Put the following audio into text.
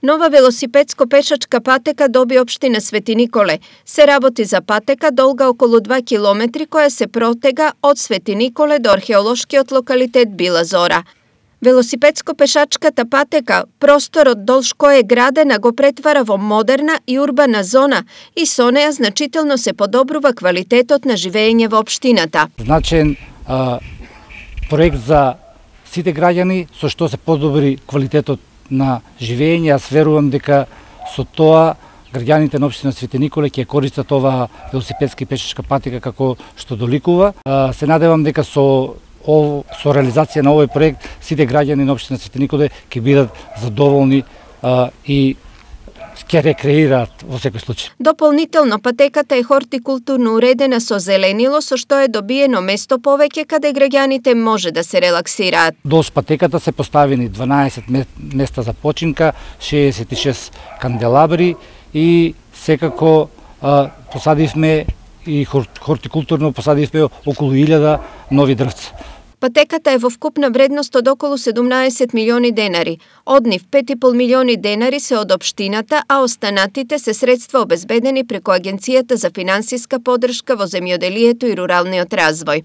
Нова велосипедско-пешачка патека доби општина Свети Николе. Се работи за патека долга околу 2 километри која се протега од Свети Николе до археолошкиот локалитет Била Зора. Велосипедско-пешачката патека, просторот долж кој е градена, го претвара во модерна и урбана зона и со неја значително се подобрува квалитетот на живење во општината. Значен проект за сите граѓани, со што се подобри квалитетот на живење. Јас верувам дека со тоа граѓаните на општина Свети Николе ќе користат оваа велосипедска и пешачка патека како што доликува. Се надевам дека со реализација на овој проект сите граѓани на општина Свети Николе ќе бидат задоволни и ќе рекреираат во секој случај. Дополнително, патеката е хортикултурно уредена со зеленило, со што е добиено место повеќе каде граѓаните може да се релаксираат. Долж патеката се поставени 12 места за починка, 66 канделабри и секако посадивме и хортикултурно посадивме околу 1000 нови дрвца. Патеката е во вкупна вредност од околу 17 милиони денари. Од нив 5,5 милиони денари се од општината, а останатите се средства обезбедени преку Агенцијата за финансиска поддршка во земјоделието и руралниот развој.